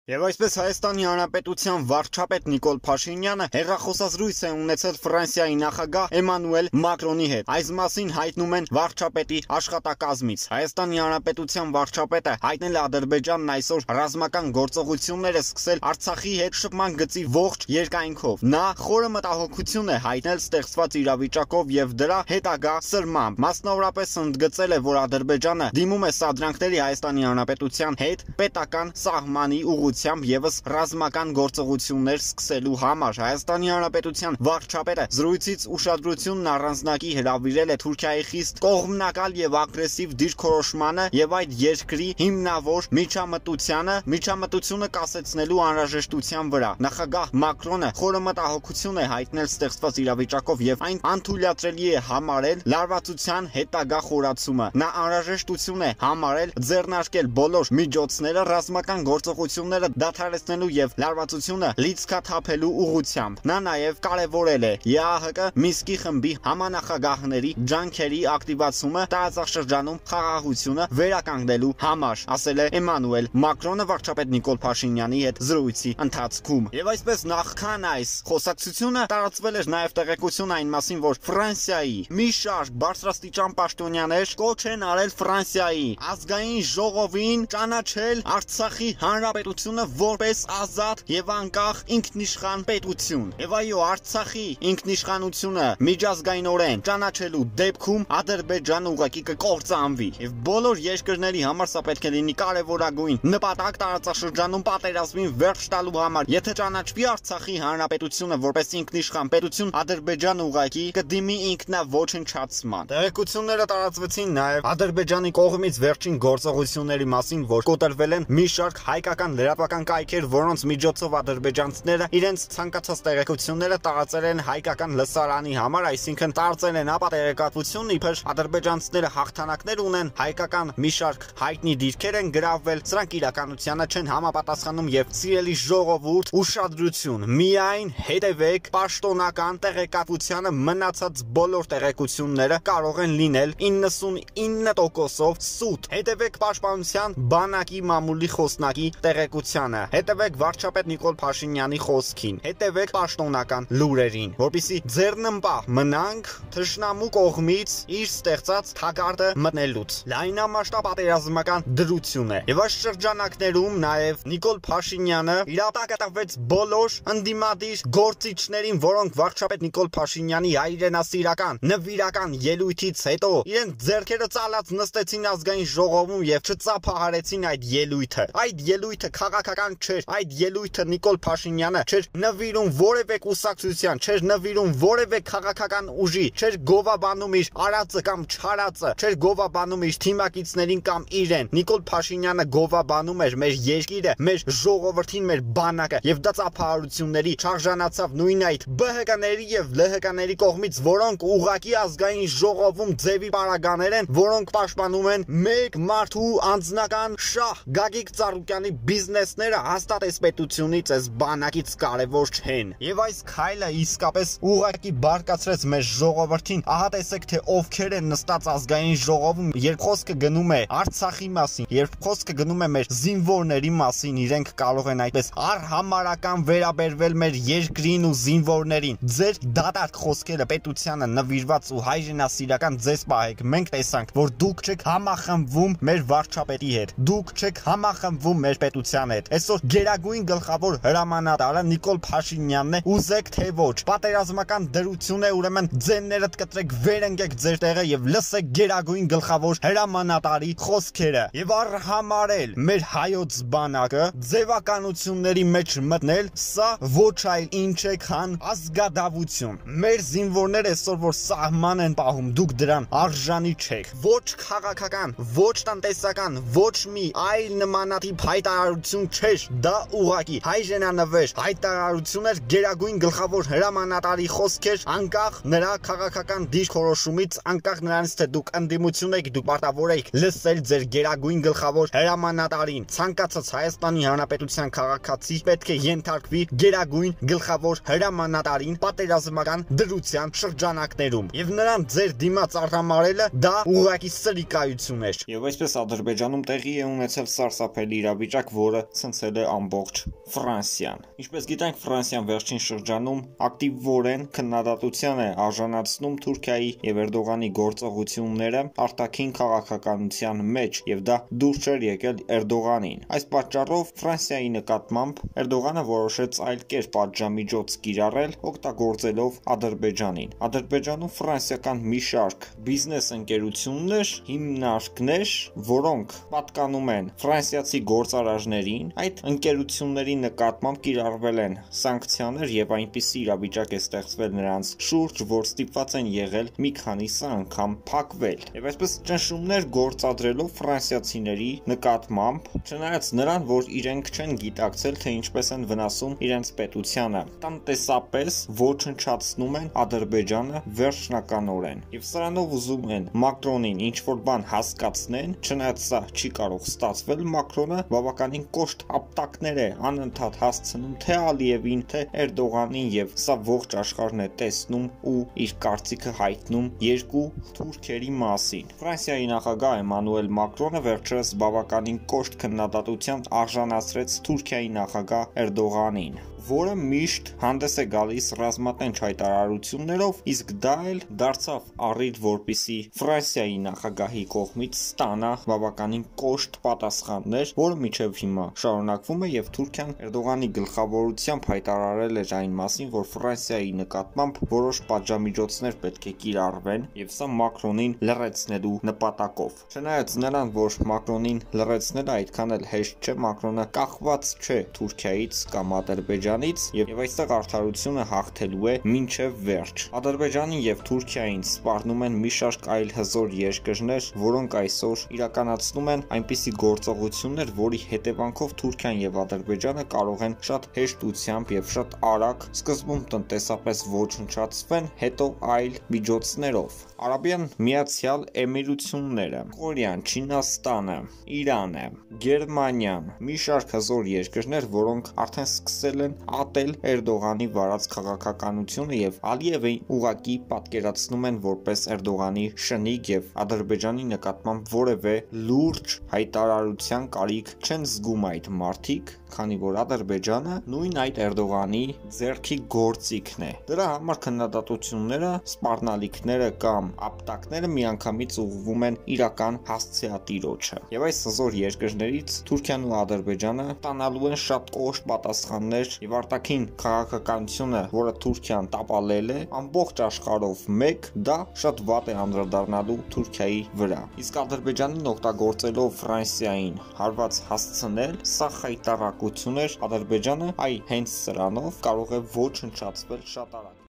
Եվ այսպես Հայաստանի Հանրապետության վարչապետ Նիկոլ Փաշինյանը հեռախոսազրույց է ունեցել Ֆրանսիայի նախագահ Էմանուել Մակրոնի հետ։ Այս մասին հայտնում են վարչապետի աշխատակազմից։ Հայաստանի Հանրապետության վարչապետը հայտնել է Ադրբեջանն այսօր ռազմական գործողություններ է սկսել Արցախի հետ շփման գծի ողջ երկայնքով։ Նա խորը մտահոգություն է հայտնել ստեղծված իրավիճակով եւ դրա հետագա սրմամբ։ Մասնավորապես ընդգծել է, որ Ադրբեջանը դիմում է սադրանքների Հայաստանի Հանրապետության հետ պետական սահմանի ուղղությամբ եւս ռազմական գործողություններ սկսելու համար։ Հայաստանի Հանրապետության վարչապետը զրույցից ուշադրությունն առանձնակի հրավիրել է Թուրքիայի խիստ կողմնակալ եւ ագրեսիվ դիրքորոշմանը եւ այդ երկրի հիմնավոր միջամտությունը կասեցնելու անհրաժեշտության վրա։ Նախագահ Մակրոնը խորը մտահոգություն է հայտնել ստեղծված իրավիճակով եւ այն անթույլատրելի է համարել լարվածության հետագա խորացումը։ Նա անհրաժեշտություն է համարել ձեռնարկել բոլոր միջոցները ռազմական գործողությունները դադարեցնելու եւ լարվածությունը լիցքաթափելու ուղղությամբ։ Նա նաեւ կարեւորել է ԵԱՀԿ Մինսկի խմբի համանախագահների ջանքերի ակտիվացումը տարածաշրջանում խաղաղությունը վերականգնելու համար, ասել է Էմանուել Մակրոնը վարչապետ Նիկոլ Փաշինյանի հետ զրույցի ընթացքում։ Եվ այսպես նախքան այս խոսակցությունը տարածվել էր նաեւ տեղեկություն այն մասին, որ Ֆրանսիայի մի շարք բարձրաստիճան պաշտոնյաներ կոչ են արել Ֆրանսիայի ազգային ժողովին ճանաչել Արցախի հանրապետությունը որպես ազատ եւ անկախ ինքնիշխան պետություն։ Եվ այո, Արցախի ինքնիշխանությունը միջազգայինորեն ճանաչելու դեպքում Ադրբեջանը ուղղակի կկործանվի։ Եվ բոլոր երկրների համար սա պետք է լինի կարևորագույն նպատակ տարածաշրջանում պատերազմին վերջ տալու համար։ Եթե ճանաչվի Արցախի հանրապետությունը որպես ինքնիշխան պետություն, Ադրբեջանը ուղղակի կդիմի ինքնաոչնչացման։ Տեղեկությունները տարածվեցին նաեւ Ադրբեջանի կողմից վերջին գործողությունների մասին, որ կոտրվել են մի շարք հայկական լրատվական կայքեր, որոնց միջոցով ադրբեջանցիները իրենց ցանկացած տեղեկությունները տարածել են հայկական լսարանի համար, այսինքն տարածել են ապա տեղեկատվություն, իբր ադրբեջանցիները հաղթանակներ ունեն, հայկական մի շարք հայտնի դիրքեր են գրավել, սրանք իրականությանը չեն համապատասխանում եւ սիրելի ժողովուրդ, ուշադրություն, միայն հետևեք պաշտոնական տեղեկատվությանը, մնացած բոլոր տեղեկությունները կարող են լինել 99%-ով սուտ։ Հետևեք պաշտպանության բանակի մամուլի խոսնակի տեղեկությանը, հետևեք վարչապետ Նիկոլ Փաշինյանի խոսքին, հետևեք պաշտոնական լուրերին, որպեսզի ձեռնմպահ մնանք թշնամու կողմից իր ստեղծած թակարդը մտնելուց։ Լայնամասշտաբ պատերազմական դրություն է։ Եվ այս շրջանակներում նաև Նիկոլ Փաշինյանը իրատակատվեց բոլոր ընդդիմադիր գործիչներին, որոնք վարչապետ Նիկոլ Փաշինյանի հայրենասիրական նվիրական ելույթից հետո իրենց ձեռքերը ծալած նստեցին ազգային ժողովում եւ չծափահարեցին այդ ելույթը։ Այդ ելույթը քաղաքական չէր, այդ ելույթը Նիկոլ Փաշինյանը չէր նվիրում որևէ կուսակցության, չէր նվիրում որևէ քաղաքական ուժի, չէր գովաբանում իր արածը կամ չարածը, չէր գովաբանում իր թիմակիցներին կամ իրեն։ Նիկոլ Փաշինյանը գովաբանում էր մեր երկիրը, մեր ժողովրդին, մեր բանակը, եւ դա ծափահարությունների շարժանացավ նույն այդ ԲՀԿ-ների եւ ԼՀԿ-ների կողմից, որոնք ուղղակի ազգային ժողովում ձևի պարագաներ են, որոնք պաշտպանում են մեկ մարդու անձնական շահ։ Գագիկ Ծառուկյանի բիզնեսները հաստատ այս պետությունից, այս բանակից կարևոր չեն։ Եվ այս քայլը իսկապես ուղղակի բարկացրեց մեր ժողովրդին։ Ահա տեսեք, թե ովքեր են նստած ազգային ժողովում, երբ խոսքը գնում է Արցախի մասին, երբ խոսքը գնում է մեր զինվորների մասին, իրենք կարող են այդպես արհամարական վերաբերվել մեր երկրին ու զինվորներին։ Ձեր դատարկ խոսքերը պետությանը նվիրված ու հայրենասիրական ձեզ պահեք։ Մենք տեսանք, որ դուք չեք համախմբվում մեր վարչապետի հետ, դուք չեք համախմբվում մեր պետության հետ։ Այսօր գերագույն գլխավոր հրամանատարը Նիկոլ Փաշինյանն է, ուզեք թե ոչ, պատերազմական դրություն է, ուրեմն ձեններդ կտրեք, վերընկեք ձեր տեղը եւ լսեք գերագույն գլխավոր հրամանատարի խոսքերը եւ արհամարել մեր հայոց բանակը, ձևականությունների մեջ մտնել, սա ոչ այլ ինչ է, քան ազգադավություն։ Մեր զինվորները այսօր որ սահման են պահում, դուք դրան արժանի չեք։ Ոչ քաղաքական, ոչ տնտեսական, ոչ մի այլ նմանատիպ հայտարարություն չէր, դա ուղղակի հայրենանվեր հայտարարություն էր, գերագույն գլխավոր հրամանատարի խոսքեր, անկախ նրա քաղաքական դիրքորոշումից, անկախ նրանից թե դուք ընդդիմություն եք, դուք պարտավոր եք լսել ձեր գերագույն գլխավոր հրամանատարին։ Ցանկացած Հայաստանի Հանրապետության քաղաքացի պետք է ենթարկվի գերագույն գլխավոր հրամանատարին պատերազմական դրության շրջանակներում, եւ նրան ձեր դիմաց արհամարելը դա ուղղակի սրիկայություն էր։ Եվ այսպես Ադրբեջանում տեղի է ունեցել սարսափելի իրավիճակ, որը ցնցել է ամբողջ Ֆրանսիան։ Ինչպես գիտենք, Ֆրանսիան վերջին շրջանում ակտիվորեն քննադատության է արժանացնում Թուրքիայի եւ Էրդողանի գործողությունները արտաքին քաղաքականության մեջ, եւ դա դուրս չէր եկել Էրդողանին։ Այս պատճառով Ֆրանսիայի նկատմամբ Էրդողանը որոշեց այլ կերպ պատժամիջոց կիրառել, օգտագործելով Ադրբեջանին։ Ադրբեջանում ֆրանսիական մի շարք բիզնես ընկերություններ, հիմնարկներ, որոնք պատկանում են ֆրանսիացի գործարարներին, այդ ընկերությունների նկատմամբ կիրառվել են սանկցիաներ եւ այնպիսի իրավիճակ է ստեղծվել նրանց շուրջ, որ ստիպված են եղել մի քանիսը անգամ փակվել։ Եվ այսպես ճնշումներ գործադրելով ֆրանսիացիների նկատմամբ, չնայած նրան, որ իրենք չեն գիտակցել, թե ինչպես են վնասում իրենց պետությանը, տնտեսապես ոչնչացնում են Ադրբեջանը վերջնականորեն։ Եվ սրանով ուզում են Մակրոնին ինչ-որ բան հասկացնեն, չնայած սա չի կարող ստացվել, Մակրոնը բավականին կոշտ ապտակներ է անընդհատ հասցնում թե Ալիևին, թե Էրդողանին, եւ սա ողջ աշխարհն է տեսնում ու իր կարծիքը հայտնում երկու թուրքերի մասին։ Ֆրանսիայի նախագահ Էմանուել Մակրոնը վերջերս բավականին կոշտ քննադատության արժանացրեց Թուրքիայի նախագահ Էրդողանին, որը միշտ հանդես է գալիս ռազմատենչ հայտարարություններով, իսկ դա էլ դարձավ առիթ, որպիսի Ֆրանսիայի նախագահի կողմից ստանա բավականին կոշտ պատասխաններ, որը մինչև հիմա շարունակվում է, եւ Թուրքիան Էրդողանի գլխավորությամբ հայտարարել էր այն մասին, որ Ֆրանսիայի նկատմամբ որոշ պատժամիջոցներ պետք է կիրառվեն, եւ սա Մակրոնին լռեցնելու նպատակով։ Չնայած նրան, որ Մակրոնին լռեցնելը այդքան էլ հեշտ չէ, Մակրոնը կախված չէ Թուրքիայից կամ Ադրբեջանից, եւ այստեղ արդարությունը հաղթելու է մինչև վերջ։ Ադրբեջանին եւ Թուրքիային սպառնում են մի շարք այլ հզոր երկրներ, որոնք այսօր իրականացնում են այնպիսի գործողություններ, որի հետևանքով Թուրքիան եւ Ադրբեջանը կարող են շատ հեշտությամբ եւ շատ արագ սկզբում տնտեսապես ոչնչացվեն, հետո այլ միջոցներով։ Արաբյան Միացյալ Էմիրությունները, Կորեան, Չինաստանը, Իրանը, Գերմանիան, մի շարք հզոր երկրներ, որոնք արդեն սկսել են ատել Էրդողանի վարած քաղաքականությունը եւ Ալիևին ուղակի պատկերացնում են որպես Էրդողանի շնիկ եւ Ադրբեջանի նկատմամբ որևէ լուրջ հայտարարության կարիք չեն զգում այդ մարդիկ, քանի որ Ադրբեջանը նույն այդ Էրդողանի ձեռքի գործիքն է։ Դրա համար քննադատությունները, սպառնալիքները կամ ապտակները միանգամից ուղղվում են իրական հասցեատիրոջը։ Եվ այս հզոր երկրներից Թուրքիան ու Ադրբեջանը ստանալու են շատ կոշտ պատասխաններ եւ արտաքին քաղաքականությունը, որը Թուրքիան տապալել է ամբողջ աշխարհով մեկ, դա շատ վատ է անդրադառնալու Թուրքիայի վրա։ Իսկ Ադրբեջանին օգտագործելով Ֆրանսիային հարված հասցնել, սա խայտառակություն էր Ադրբեջանը, այ հենց սրանով կարող է ոչնչացվել շատ արագ։